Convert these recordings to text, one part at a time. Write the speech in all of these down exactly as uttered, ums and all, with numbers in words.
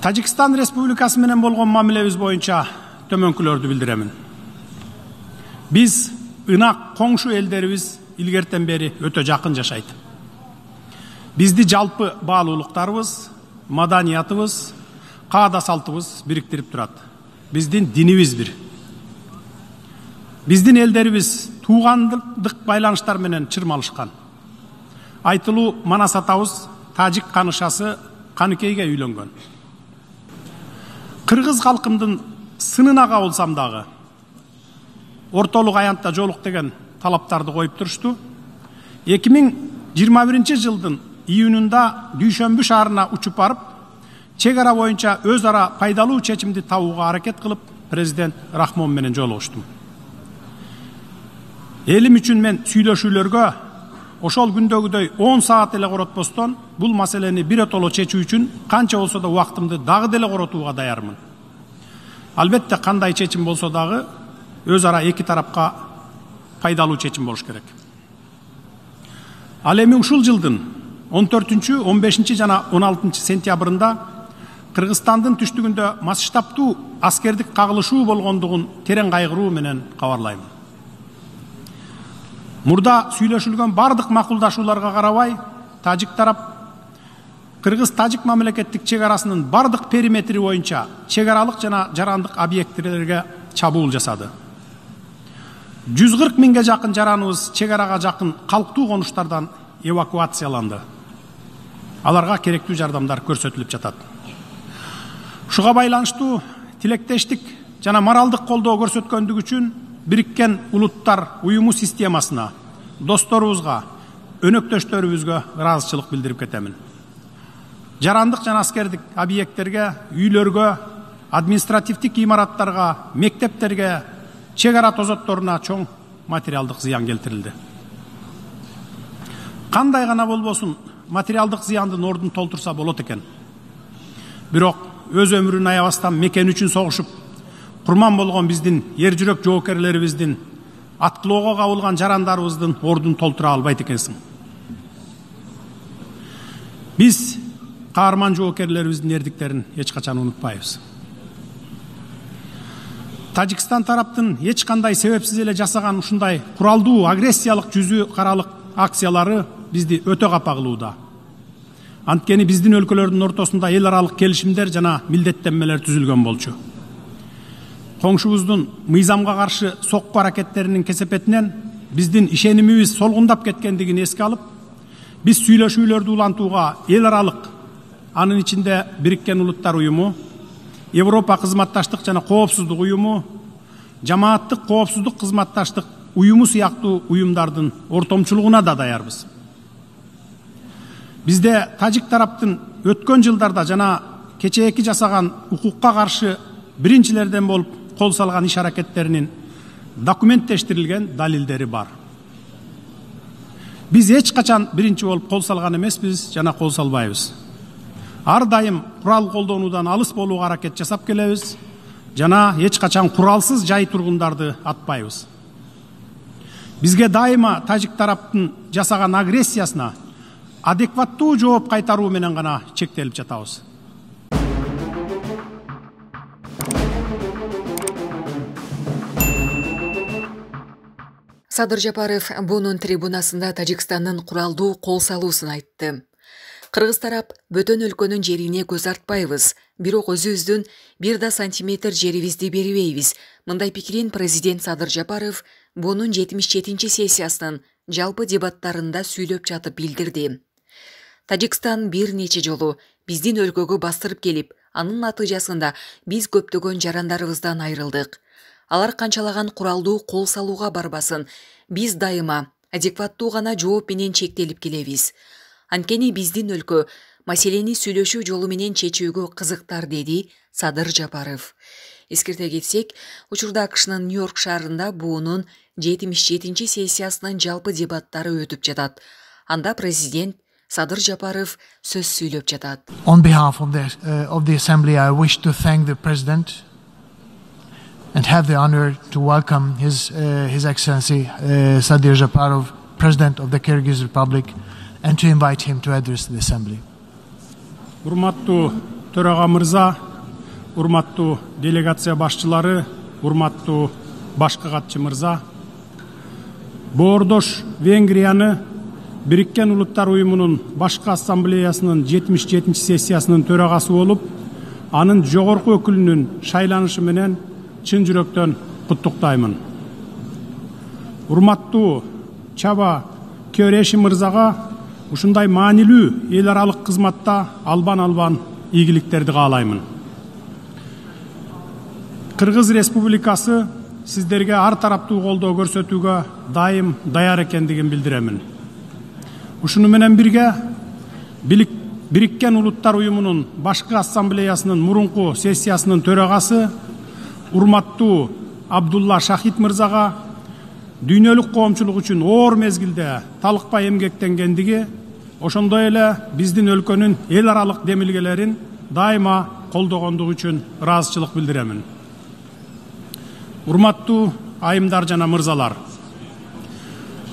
Тажикстан Республикасы менен болгон мамилебиз боюнча төмөнкүлөрдү билдиремин. Биз ынак коңшу элдерибиз илгертен бери өтө жакын жашайт. Бизди жалпы баалуулуктарыбыз, маданиятыбыз, каада салтыбыз бириктирип турат. Биздин динибиз бир. Биздин элдерибиз туугандык байланыштар менен чырмалышкан. Айтылуу Манас атабыз тажик канышасы Каныкейге үйлөнгөн. Кыргыз калкымдын сынына кабылсам дагы ортолук аянтта жолук деген талаптарды коюп турушту. эки миң жыйырма биринчи жылдын июнунда Дүйшөмбү шаарына учуп барып, чек ара боюнча өз ара пайдалуу чечимди табууга аракет кылып, президент Рахмон менен жолугуштум. Элим үчүн мен сүйлөшүүлөргө ошол күндөгүдөй он саат эле коротпостон бул маселени биротоло чечүү үчүн канча болсо да убактымды дагы деле коротууга даярмын. Албетте кандай чечим болсо дагы өз ара эки тарапка пайдалуу чечим болуш керек. Ал эми ушул жылдын он төртүнчү, он бешинчи жана он алтынчы сентябрында Кыргызстандын түштүгүндө масштабтуу аскердик кагылышуу болгондугун терең кайгыруу менен кабарлайм. Мурда сүйлөшүлгөн бардык макулдашууларга карабай, тажик тарап Кыргыз-тажик мамлекеттик чек арасынын бардык периметри боюнча чек аралык жана жарандык объекттелерге чабуул жасады. жүз кырк миңге жакын жараныбыз чек арага жакын калктуу конуштардан эвакуацияланды. Аларга керектүү жардамдар көрсөтүлүп жатат. Ушуга байланыштуу тилектештик жана моралдык колдоо көрсөткөндүгү үчүн Бириккен Улуттар уюму системасына, досторубузга, өнөктөштөрүбүзгө ыраазычылык билдирип кетемин. Жарандык жана аскердик объекттерге, үйлөргө, административдик имараттарга, мектептерге, чек ара тозотторуна чоң материалдык зыян келтирилди. Кандай гана болбосун, материалдык зыяндын ордун толтурса болот экен. Бирок өз өмүрүн аябастан мекен үчүн согушуп, курман болгон биздин ер жүрөк жоокерлерибиздин, аткылоого кабылган жарандарыбыздын ордун толтура албайт экенсиң. Биз каарман жоокерлерибиздин эрдиктерин эч качан унутпайбыз. Тажикстан тараптын эч кандай себепсиз эле жасаган ушундай куралдуу агрессиялык жүзү каралык акциялары бизди өтө капа кылууда. Анткени биздин өлкөлөрдүн ортосунда эл аралык келишимдер жана милдеттенмелер түзүлгөн болчу. Коңшубуздун мыйзамга каршы сокку аракеттеринин кесепетинен биздин ишенимибиз солгундап кеткендигин эске алып, биз сүйлөшүүлөрдү улантууга эл аралык, анын ичинде Бириккен Улуттар уюму, Европа кызматташтык жана коопсуздук уюму, жамааттык коопсуздук кызматташтык уюму сыяктуу уюмдардын ортомчулугуна да даярбыз. Бизде тажик тараптын өткөн жылдарда жана кечээки жасаган укукка каршы биринчилерден болуп кол салган иш аракеттеринин документтештирилген далилдери бар. Биз эч качан биринчи болуп кол салган эмеспиз жана кол салбайбыз. Ар дайым курал колдонуудан алыс болууга аракет жасап келебиз жана эч качан куралсыз жай тургундарды атпайбыз. Бизге дайыма тажик тараптын жасаган агрессиясына адекваттуу жооп кайтаруу менен гана чектелип жатабыз. Садыр Жапаров бунун трибунасында Тажикстандын куралдуу кол салуусун айтты. Кыргыз тарап бөтөн өлкөнүн жерине көз артпайбыз, бирок өзүбүздүн бир да сантиметр жерибизди бербейбиз. Мындай пикирин президент Садыр Жапаров бунун жетимиш жетинчи сессиясынын жалпы дебаттарында сүйлөп жатып билдирди. Тажикстан бир нече жолу биздин өлкөгө бастырып келип, анын натыйжасында биз көптөгөн жарандарыбыздан айрылдык. Алар канчалаган куралдуу кол салууга барбасын, биз дайыма адекваттуу гана жооп менен чектелип келебиз. Анткени биздин өлкө маселени сүйлөшүү жолу менен чечүүгө кызыктар, деди Садыр Жапаров. Эскерте кетсек, учурда АКШнын Нью-Йорк шаарында буунун жетимиш жетинчи сессиясынын жалпы дебаттары өтүп жатат. Анда президент Садыр Жапаров сөз сүйлөп жатат. On behalf of the, uh, of the Assembly, I wish to thank the President and have the honor to welcome His, uh, His Excellency uh, Sadir Japarov, President of the Kyrgyz Republic, and to invite him to address the Assembly. Урматтуу төрага мырза, урматтуу делегация башчылары, урматтуу башкы катчы мырза, боордош Венгрияны Бириккен Улуттар уюмунун башкы ассамблеясынын жетимиш жетинчи сессиясынын төрагасы болуп, анын жогорку өкүлүнүн шайланышы менен чын жүрөктөн куттуктаймын. Урматтуу Чаба Көөреши мырзага ушундай маанилүү эл аралык кызматта албан-албан ийгиликтерди каалаймын. Кыргыз Республикасы сиздерге ар тараптуу колдоо көрсөтүүгө дайым даяр экендигин билдиремин. Ушуну менен бирге Бириккен Улуттар уюмунун башкы ассамблеясынын мурунку сессиясынын төрагасы урматтуу Абдулла Шахид мырзага дүйнөлүк коомчулук үчүн оор мезгилде талыкпай эмгектенгендиги, ошондой эле биздин өлкөнүн эл аралык демилгелерин дайыма колдогондугу үчүн ыраазычылык билдиремин. Урматтуу айымдар жана мырзалар,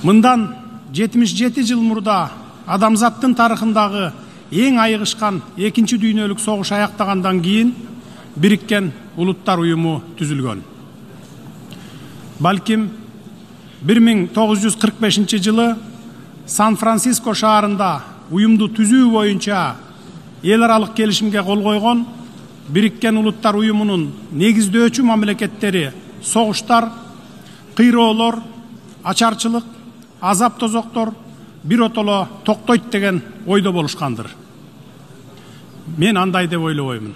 мындан жетимиш жети жыл мурда адамзаттын тарыхындагы эң айыгышкан экинчи дүйнөлүк согуш аяктагандан кийин Бириккен Улуттар уюму түзүлгөн. Балким бир миң тогуз жүз кырк бешинчи жылы Сан-Франциско шаарында уюмду түзүү боюнча эл аралык келишимге кол койгон Бириккен Улуттар уюмунун негиздөөчү мамлекеттери согуштар, кыйроолор, ачарчылык, азап тозоктор биротоло токтойт деген ойдо болушкандыр. Мен андай деп ойлобоймун.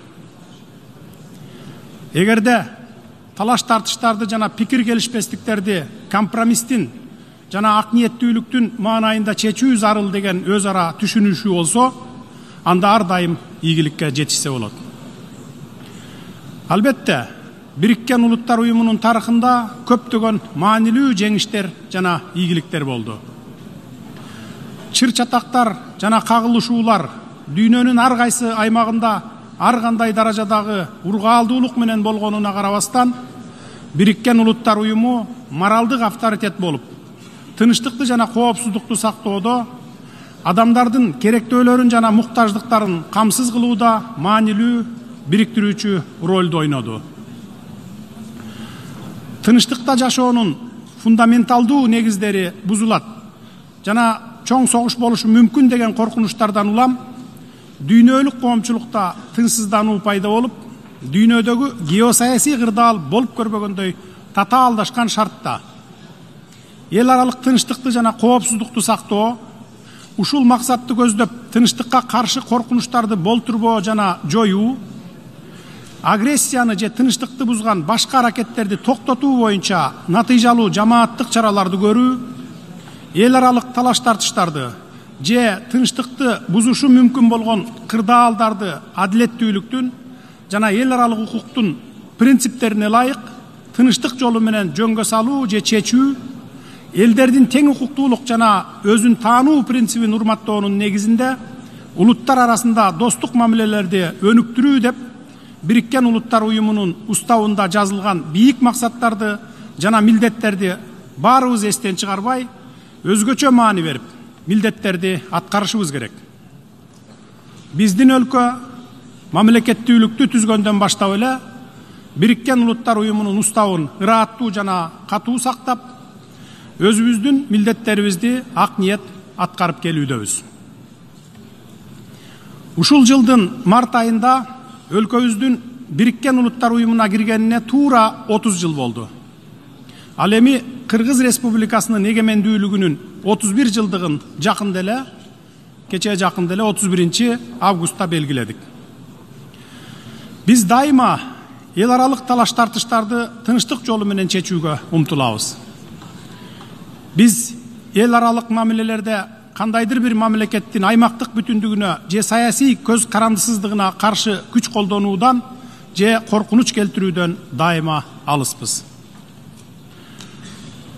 Эгерде талаш тартыштарды жана пикир келишпестиктерди компромисстин жана ак ниеттүүлүктүн маанайында чечүү зарыл деген өз ара түшүнүшүү болсо, анда ар дайым ийгиликке жетишсе болот. Албетте, Бириккен Улуттар уюмунун тарыхында көптөгөн маанилүү жеңиштер жана ийгиликтер болду. Чыр чатактар жана кагылышуулар дүйнөнүн ар кайсы аймагында ар кандай даражадагы ургаалдуулук менен болгонуна карабастан, Бириккен Улуттар уюму моралдык авторитет болуп, тынычтыкты жана коопсуздукту сактоодо, адамдардын керектөөлөрүн жана муктаждыктарын камсыз кылууда маанилүү бириктирүүчү ролду ойноду. Тынычтыкта жашоонун фундаменталдуу негиздери бузулат жана чоң согуш болушу мүмкүн деген коркунучтардан улам дүйнөлүк коомчулукта тынчсыздануу пайда болуп, дүйнөдөгү геосаясий кырдаал болуп көрбөгөндөй татаалдашкан шартта эл аралык тынчтыкты жана коопсуздукту сактоо, ушул максатты көздөп тынчтыкка каршы коркунучтарды болтурбоо жана жоюу, агрессияны же тынчтыкты бузган башка аракеттерди токтотуу боюнча натыйжалуу жамааттык чараларды көрүү, эл аралык талаш тартыштарды же тынчтыкты бузушу мүмкүн болгон кырдаалдарды адилеттүүлүктүн жана эл аралык укуктун принциптерине ылайык тынчтык жолу менен жөнгө салуу же чечүү, элдердин тең укуктуулук жана өзүн таануу принцибин урматтоонун негизинде улуттар арасында достук мамилелерди өнүктүрүү деп Бириккен Улуттар уюмунун уставында жазылган бийик максаттарды жана милдеттерди баарыбыз эстен чыгарбай, өзгөчө маани берип, милдеттерди аткарышыбыз керек. Биздин өлкө мамлекеттүүлүктү түзгөндөн баштап эле Бириккен Улуттар уюмунун уставын ырааттуу жана катуу сактап, өзүбүздүн милдеттерибизди ак ниет аткарып келүүдөбүз. Ушул жылдын март айында өлкөбүздүн Бириккен Улуттар уюмуна киргенине туура отуз жыл болду. Ал эми Кыргыз Республикасынын эгемендүүлүгүнүн отуз бир жылдыгын жакында эле, кечээ жакында эле отуз биринчи августта белгиледик. Биз дайыма эл аралык талаш тартыштарды тынчтык жолу менен чечүүгө умтулабыз. Биз эл аралык мамилелерде кандайдыр бир мамлекеттин аймактык бүтүндүгүнө же саясий көз карандысыздыгына каршы күч колдонуудан же коркунуч келтирүүдөн дайыма алыспыз.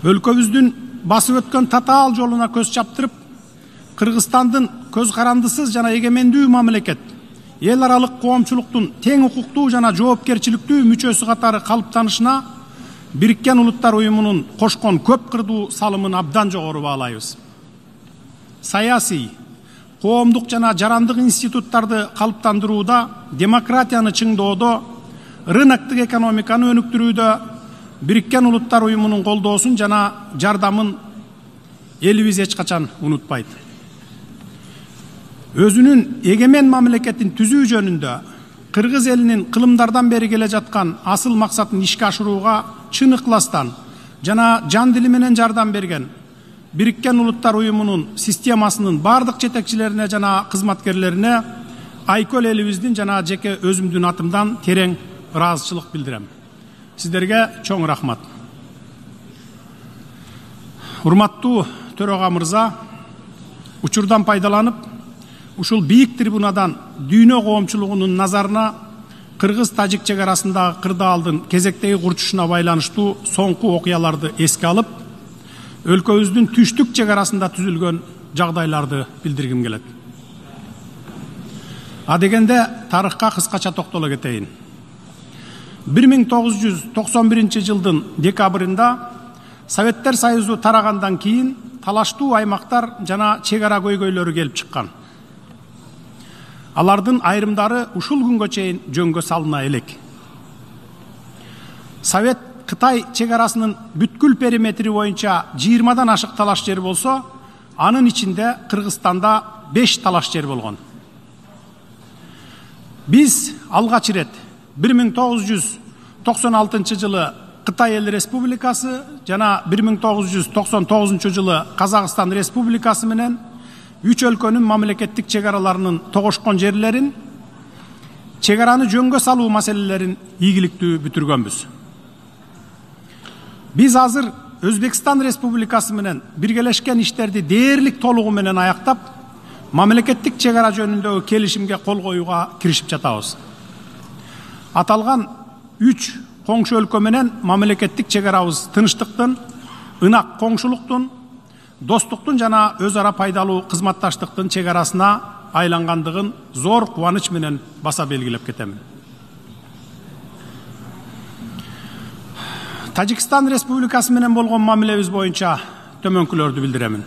Өлкөбүздүн басып өткөн татаал жолуна көз чаптырып, Кыргызстандын көз карандысыз жана эгемендүү мамлекет, эл аралык коомчулуктун тең укуктуу жана жоопкерчиликтүү мүчөсү катары калыптанышына Бириккен Улуттар уюмунун кошкон көп кырдуу салымын абдан жогору баалайбыз. Саясий, коомдук жана жарандык институттарды калыптандырууда демократияны чыңдоодо, рыноктук экономиканы өнүктүрүүдө Бириккен Улуттар Уюмунун колдоосун жана жардамын элибиз эч качан унутпайт. Өзүнүн эгемен мамлекетин түзүү жөнүндө кыргыз элинин кылымдардан бери келе жаткан асыл максатын ишке ашырууга чын ыкластан жана жан дили менен жардам берген Бириккен Улуттар Уюмунун системасынын бардык жетекчилерине жана кызматкерлерине айкөл элибиздин жана жеке өзүмдүн атымдан терең ыраазычылык билдирем. Сиздерге чоң рахмат. Урматтуу төрага мырза, учурдан пайдаланып, ушул бийик трибунадан дүйнө коомчулугунун назарына кыргыз-тажик чек арасындагы кырдаалдын кезектеги курчушуна байланыштуу соңку окуяларды эске алып, өлкөбүздүн түштүк чек арасында түзүлгөн жагдайларды билдиргим келет. Адегенде тарыхка кыскача токтоло кетейин. бир миң тогуз жүз токсон биринчи жылдын декабрында Советтер Союзу тарагандан кийин талаштуу аймактар жана чек ара көйгөйлөрү келип чыккан. Алардын айрымдары ушул күнгө чейин жөнгө салына элек. Совет Кытай чек арасынын бүткүл периметри боюнча жыйырмадан ашык талаш жер болсо, анын ичинде Кыргызстанда беш талаш жер болгон. Биз алгач ирет бир миң тогуз жүз токсон алтынчы жылы Кытай Эл Республикасы жана бир миң тогуз жүз токсон тогузунчу жылы Казакстан Республикасы менен үч өлкөнүн мамлекеттик чек араларынын тогошкон жерлерин, чек араны жөнгө салуу маселелерин ийгиликтүү бүтүргөнбүз. Биз азыр Өзбекстан Республикасы менен биргелешкен иштерди дээрлик толугу менен аяктап, мамлекеттик чек ара жөнүндөгү келишимге кол коюуга киришип жатабыз. Аталган үч коңшу өлкө менен мамлекеттик чек арабыз тынчтыктын, ынак коңшулуктун, достуктун жана өз ара пайдалуу кызматташтыктын чек арасына айлангандыгын зор кубаныч менен баса белгилеп кетемин. Тажикстан Республикасы менен болгон мамилебиз боюнча төмөнкүлөрдү билдиремин.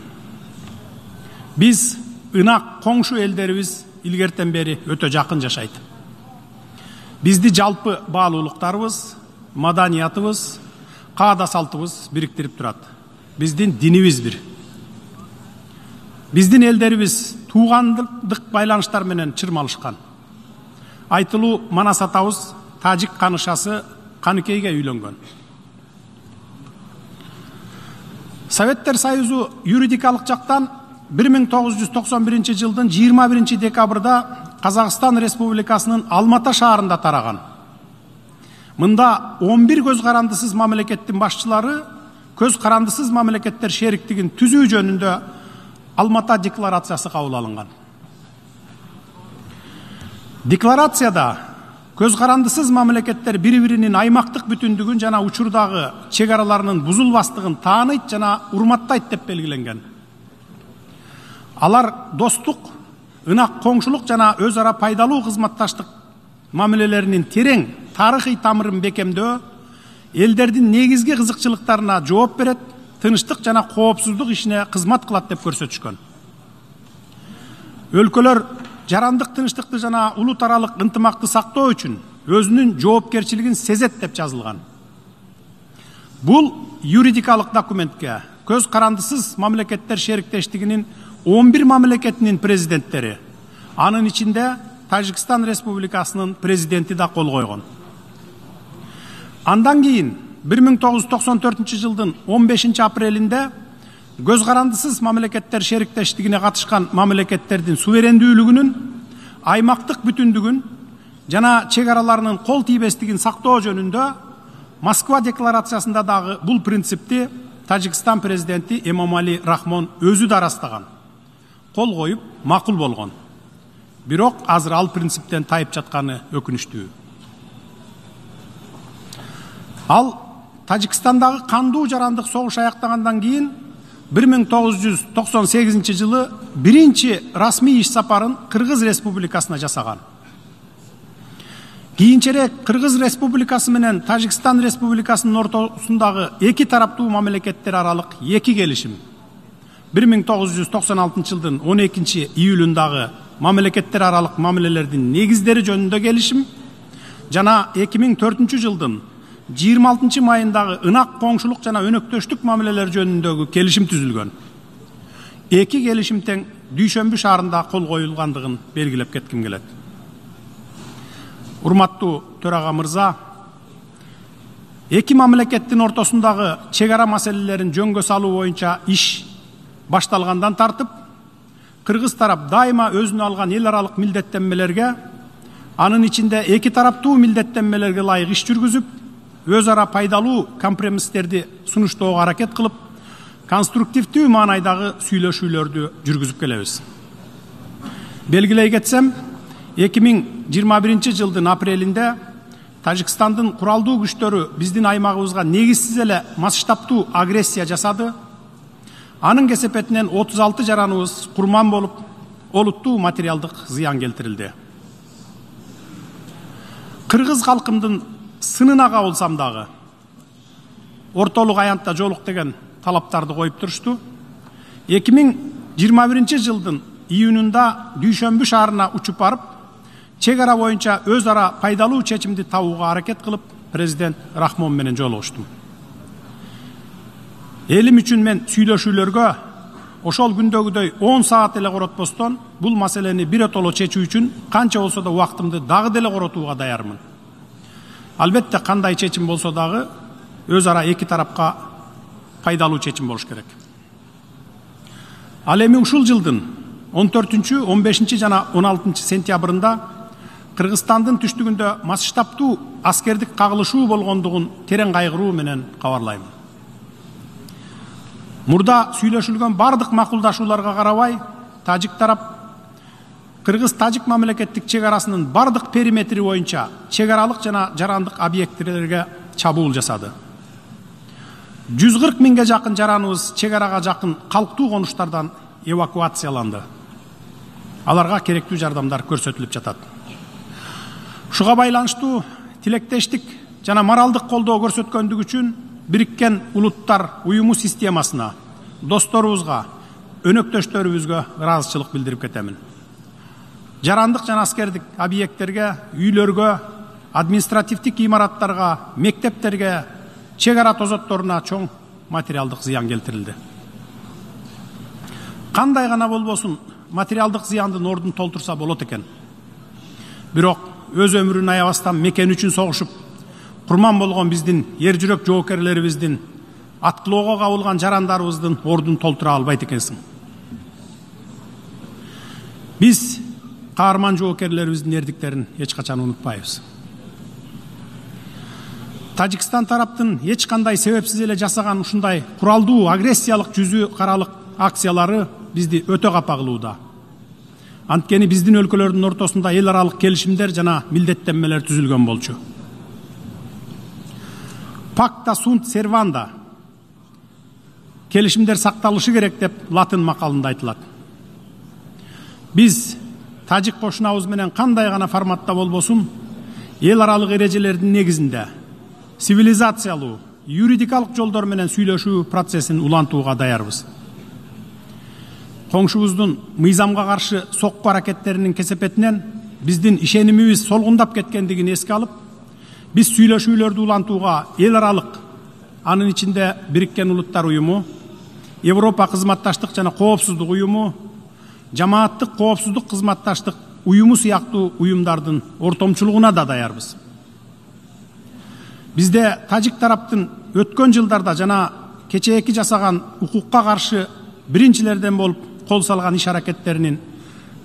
Биз ынак коңшу элдерибиз илгертен бери өтө жакын жашайт. Бизди жалпы баалуулуктарыбыз, маданиятыбыз, каада салтыбыз бириктирип турат. Биздин динибиз бир. Биздин элдерибиз туугандык байланыштар менен чырмалышкан. Айтылуу Манас атабыз тажик канышасы Каныкейге үйлөнгөн. Советтер Союзу юридикалык жактан бир миң тогуз жүз токсон биринчи жылдын жыйырма биринчи декабрда Казакстан Республикасынын Алмата шаарында тараган. Мында он бир көз карандысыз мамлекеттин башчылары көз карандысыз мамлекеттер шериктигин түзүү жөнүндө Алмата декларациясы кабыл алынган. Декларацияда көз карандысыз мамлекеттер бири-биринин аймактык бүтүндүгүн жана учурдагы чек араларынын бузулбастыгын тааныйт жана урматтайт деп белгиленген. Алар достук, ынак коңшулук жана өз ара пайдалуу кызматташтык мамилелеринин терең тарыхый тамырын бекемдөө, элдердин негизги кызыкчылыктарына жооп берет, тынчтык жана коопсуздук ишине кызмат кылат деп көрсөтүшкөн. Өлкөлөр жарандык тынчтыкты жана улут аралык ынтымакты сактоо үчүн өзүнүн жоопкерчилигин сезет деп жазылган. Бул юридикалык документке көз карандысыз мамлекеттер шериктештигинин он бир мамлекетинин президенттери, анын ичинде Тажикстан Республикасынын президенти да кол койгон. Андан кийин бир миң тогуз жүз токсон төртүнчү жылдын он бешинчи апрелинде көз карандысыз мамлекеттер шериктештигине катышкан мамлекеттердин суверендүүлүгүнүн, аймактык бүтүндүгүн жана чек араларынын кол тийбестигин сактоо жөнүндө Москва декларациясында дагы бул принципти Тажикстан президенти Эмомали Рахмон өзү да ырастаган, кол коюп макул болгон. Бирок азыр ал принциптен тайып жатканы өкүнүчтүү. Ал Тажикстандагы кандуу жарандык согуш аяктагандан кийин бир миң тогуз жүз токсон сегизинчи жылы биринчи расмий иш сапарын Кыргыз Республикасына жасаган. Кийинчерээк Кыргыз Республикасы менен Тажикстан Республикасынын ортосундагы эки тараптуу мамлекеттер аралык эки келишим бир миң тогуз жүз токсон алтынчы жылдын он экинчи июлундагы мамлекеттер аралык мамилелердин негиздери жөнүндө келишим жана эки миң төртүнчү жылдын жыйырма алтынчы майындагы ынак коңшулук жана өнөктөштүк мамилелер жөнүндөгү келишим түзүлгөн. Эки келишим тең Дүйшөмбү шаарында кол коюлгандыгын белгилеп кетким келет. Урматтуу төрага мырза, эки мамлекеттин ортосундагы чек ара маселелерин жөнгө салуу боюнча иш башталгандан тартып, кыргыз тарап дайыма өзүнө алган эл аралык милдеттенмелерге, анын ичинде эки тараптуу милдеттенмелерге ылайык иш жүргүзүп, өз ара пайдалуу компромисстерди сунуштоого аракет кылып, конструктивдүү маанайдагы сүйлөшүүлөрдү жүргүзүп келебиз. Белгилей кетсем, эки миң жыйырма биринчи жылдын апрелинде Тажикстандын куралдуу күчтөрү биздин аймагыбызга негизсиз эле масштабтуу агрессия жасады. Анын кесепетинен отуз алты жараныбыз курман болуп, олуттуу материалдык зыян келтирилди. Кыргыз калкымдын сынына кабылсам дагы, ортолук аянтта жолук деген талаптарды коюп турушту. эки миң жыйырма биринчи жылдын июнунда Дүйшөмбү шаарына учуп барып, чек ара боюнча өз ара пайдалуу чечимди табууга аракет кылып, президент Рахмон менен жолугуштум. Элим үчүн мен сүйлөшүүлөргө ошол күндөгүдөй он саат эле коротпостон бул маселени биротоло чечүү үчүн канча болсо да убактымды дагы деле коротууга даярмын. Албетте кандай чечим болсо дагы өз ара эки тарапка пайдалуу чечим болуш керек. Ал эми ушул жылдын он төртүнчү, он бешинчи жана он алтынчы сентябрында Кыргызстандын түштүгүндө масштабтуу аскердик кагылышуу болгондугун терең кайгыруу менен кабарлайм. Мурда сүйлөшүлгөн бардык макулдашууларга карабай, тажик тарап Кыргыз-тажик мамлекеттик чек арасынын бардык периметри боюнча чек аралык жана жарандык объектилерге чабуул жасады. жүз кырк миңге жакын жараныбыз чек арага жакын калктуу конуштардан эвакуацияланды. Аларга керектүү жардамдар көрсөтүлүп жатат. Ушуга байланыштуу тилектештик жана моралдык колдоо көрсөткөндүгү үчүн Бириккен Улуттар уюму системасына, досторубузга, өнөктөштөрүбүзгө ыраазычылык билдирип кетемин. Жарандык жана аскердик объекттерге, үйлөргө, административдик имараттарга, мектептерге, чек ара тозотторуна чоң материалдык зыян келтирилди. Кандай гана болбосун материалдык зыяндын ордун толтурса болот экен. Бирок өз өмүрүн аябастан мекен үчүн согушуп, курман болгон биздин ер жүрөк жоокерлерибиздин, аткылоого кабылган жарандарыбыздын ордун толтура албайт экенсиң. Биз каарман жоокерлерибиздин эрдиктерин эч качан унутпайбыз. Тажикстан тараптын эч кандай себепсиз эле жасаган ушундай куралдуу агрессиялык жүзү каралык акциялары бизди өтө капа кылууда. Анткени биздин өлкөлөрдүн ортосунда эл аралык келишимдер жана милдеттенмелер түзүлгөн болчу. Пакта сунт серванда келишимдер сакталышы керек деп латын макалында айтылат. Биз тажик кошунабыз менен кандай гана форматта болбосун, эл аралык эрежелердин негизинде цивилизациялуу, юридикалык жолдор менен сүйлөшүү процессин улантууга даярбыз. Коңшубуздун мыйзамга каршы сокку аракеттеринин кесепетинен биздин ишенимибиз солгундап кеткендигин эске алып, биз сүйлөшүүлөрдү улантууга эл аралык, анын ичинде Бириккен Улуттар уюму, Европа кызматташтык жана коопсуздук уюму, жамааттык коопсуздук кызматташтык уюму сыяктуу уюмдардын ортомчулугуна да даярбыз. Бизде тажик тараптын өткөн жылдарда жана кечээки жасаган укукка каршы биринчилерден болуп кол салган иш аракеттеринин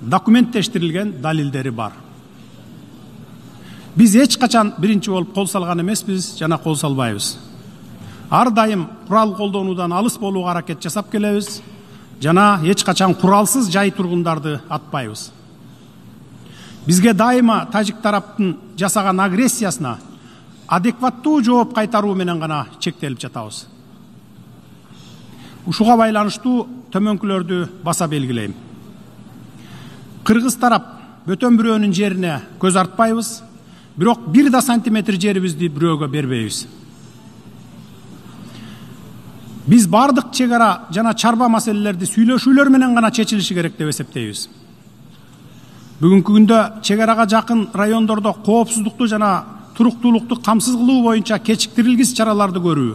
документтештирилген далилдери бар. Биз эч качан биринчи болуп кол салган эмеспиз жана кол салбайбыз. Ар дайым курал колдонуудан алыс болууга аракет жасап келебиз жана эч качан куралсыз жай тургундарды атпайбыз. Бизге дайыма тажик тараптын жасаган агрессиясына адекваттуу жооп кайтаруу менен гана чектелип жатабыз. Ушуга байланыштуу төмөнкүлөрдү баса белгилейм. Кыргыз тарап бөтөн бирөөнүн жерине көз артпайбыз, бирок бир да сантиметр жерибизди бирөөгө бербейбиз. Биз бардык чек ара жана чарба маселелерди сүйлөшүүлөр менен гана чечилиши керек деп эсептейбиз. Бүгүнкү күндө чек арага жакын райондордо коопсуздукту жана туруктуулукту камсыз кылуу боюнча кечиктирилгис чараларды көрүү,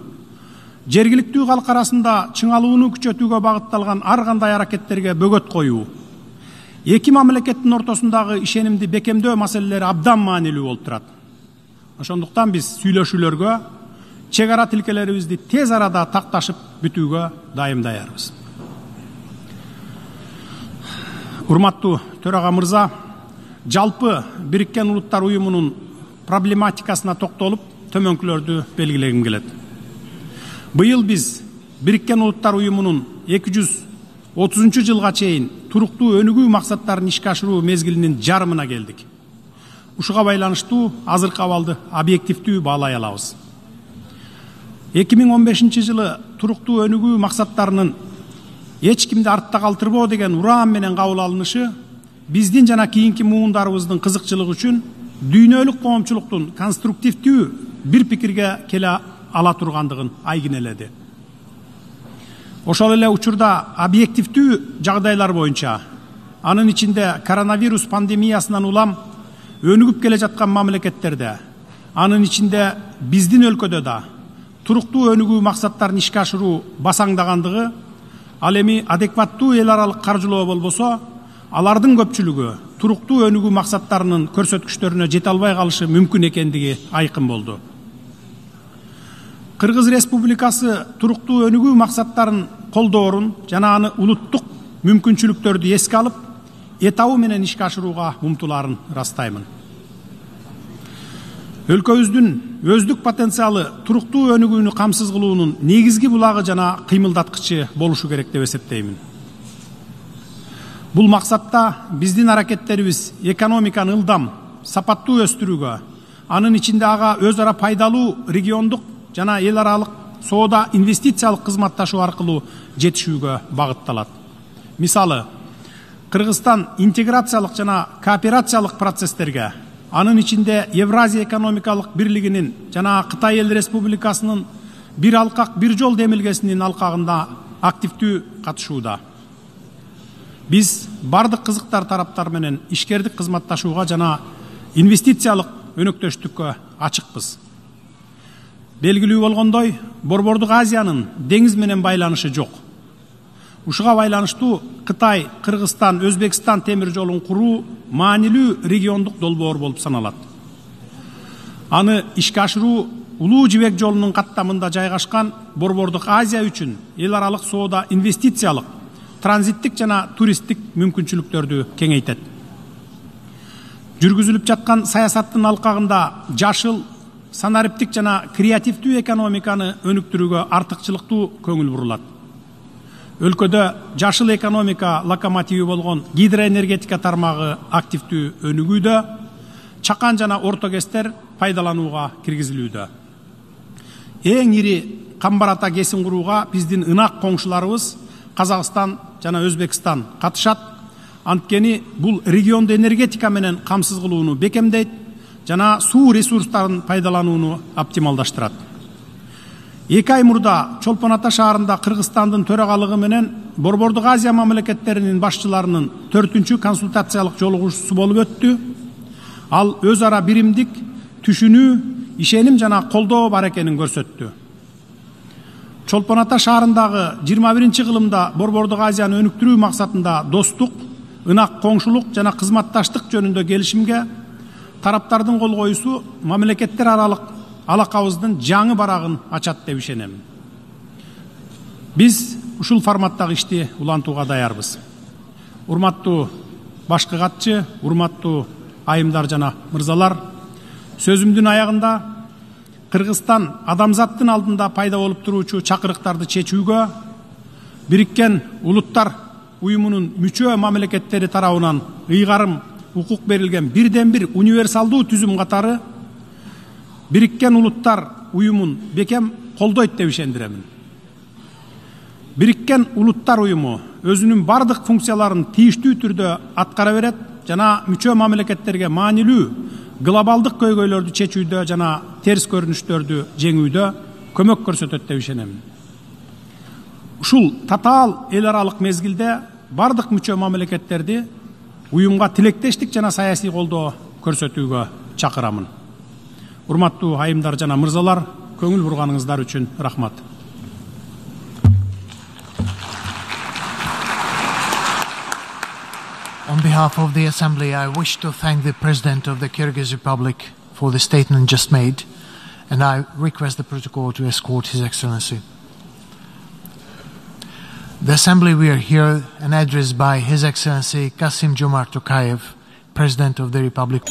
жергиликтүү калк арасында чыңалууну күчөтүүгө багытталган ар кандай аракеттерге бөгөт коюу, эки мамлекеттин ортосундагы ишенимди бекемдөө маселелери абдан маанилүү болуп турат. Ошондуктан биз сүйлөшүүлөргө, чек ара тилкелерибизди тез арада такташып бүтүүгө дайым даярбыз. Урматтуу төрага мырза, жалпы Бириккен Улуттар уюмунун проблематикасына токтолуп, төмөнкүлөрдү белгилегим келет. Быйыл биз Бириккен Улуттар уюмунун эки жүз отузунчу жылга чейин туруктуу өнүгүү максаттарын ишке ашыруу мезгилинин жарымына келдик. Ушуга байланыштуу азыркы абалды объективдүү баалай алабыз. эки миң он бешинчи жылы туруктуу өнүгүү максаттарынын эч кимди артта калтырбоо деген ураан менен кабыл алынышы биздин жана кийинки муундарыбыздын кызыкчылыгы үчүн дүйнөлүк коомчулуктун конструктивдүү бир пикирге келе ала тургандыгын айгинеледи. Ошол эле учурда объективдүү жагдайлар боюнча, анын ичинде коронавирус пандемиясынан улам өнүгүп келе жаткан мамлекеттерде, анын ичинде биздин өлкөдө да туруктуу өнүгүү максаттарын ишке ашыруу басаңдагандыгы, ал эми адекваттуу эл аралык каржылоо болбосо, алардын көпчүлүгү туруктуу өнүгүү максаттарынын көрсөткүчтөрүнө жете албай калышы мүмкүн экендиги айкын болду. Кыргыз Республикасы туруктуу өнүгүү максаттарын колдоорун жана аны улуттук мүмкүнчүлүктөрдү эске алып, этабы менен ишке ашырууга умтулаарын ырастаймын. Өлкөбүздүн өздүк потенциалы туруктуу өнүгүүнү камсыз кылуунун негизги булагы жана кыймылдаткычы болушу керек деп эсептеймин. Бул максатта биздин аракеттерибиз экономиканы ылдам, сапаттуу өстүрүүгө, анын ичинде ага өз ара пайдалуу региондук жана эл аралык соода инвестициялык кызматташуу аркылуу жетишүүгө багытталат. Мисалы, Кыргызстан интеграциялык жана кооперациялык процесстерге, анын ичинде Евразия экономикалык бирлигинин жана Кытай Эл Республикасынын бир алкак бир жол демилгесинин алкагында активдүү катышууда. Биз бардык кызыктар тараптар менен ишкердик кызматташууга жана инвестициялык өнөктөштүккө ачыкпыз. Белгилүү болгондой, Борбордук Азиянын деңиз менен байланышы жок. Ушуга байланыштуу Кытай, Кыргызстан, Өзбекстан темир жолун куруу маанилүү региондук долбоор болуп саналат. Аны ишке ашыруу Улуу Жибек жолунун каттамында жайгашкан Борбордук Азия үчүн эл аралык соода инвестициялык, транзиттик жана туристтик мүмкүнчүлүктөрдү кеңейтет. Жүргүзүлүп жаткан саясаттын алкагында жашыл, санариптик жана креативдүү экономиканы өнүктүрүүгө артыкчылыктуу көңүл бурулат. Өлкөдө жашыл экономика локомотиви болгон гидроэнергетика тармагы активдүү өнүгүүдө, чакан жана орто кестер пайдаланууга киргизилүүдө. Эң ири камбарата кесин курууга биздин ынак коңшуларыбыз Казакстан жана Өзбекстан катышат. Анткени бул регионду энергетика менен камсыз кылууну бекемдейт жана суу ресурстарын пайдаланууну оптималдаштырат. Эки ай мурда Чолпон Ата шаарында Кыргызстандын төрагалыгы менен Борбордук Азия мамлекеттеринин башчыларынын төртүнчү консультациялык жолугушуусу болуп өттү. Ал өз ара биримдик, түшүнүү, ишеним жана колдоо бар экенин көрсөттү. Чолпон Ата шаарындагы жыйырма биринчи кылымда Борбордук Азияны өнүктүрүү максатында достук, ынак коңшулук жана кызматташтык жөнүндө келишимге тараптардын кол коюусу мамлекеттер аралык алакабыздын жаңы барагын ачат деп ишенем. Биз ушул форматтагы ишти улантууга даярбыз. Урматтуу башкы катчы, урматтуу айымдар жана мырзалар, сөзүмдүн аягында Кыргызстан адамзаттын алдында пайда болуп туруучу чакырыктарды чечүүгө Бириккен Улуттар уюмунун мүчө мамлекеттери тарабынан ыйгарым укук берилген бирден бир универсалдуу түзүм катары Бириккен Улуттар уюмун бекем колдойт деп ишендиремин. Бириккен Улуттар уюму өзүнүн бардык функцияларын тийиштүү түрдө аткара берет жана мүчө мамлекеттерге маанилүү глобалдык көйгөйлөрдү чечүүдө жана терс көрүнүштөрдү жеңүүдө көмөк көрсөтөт деп ишенемин. Ушул татаал эл аралык мезгилде бардык мүчө мамлекеттерди уюмга тилектештик жана саясий колдоо көрсөтүүгө чакырамын. Урматтуу айымдар жана мырзалар, көңүл бурганыңыздар үчүн рахмат. On behalf of the Assembly, I wish to thank the President of the Kyrgyz Republic for the statement just made, and I request the protocol to escort His Excellency. The Assembly will hear an address by His Excellency Kassym-Jomart Tokayev, President of the Republic.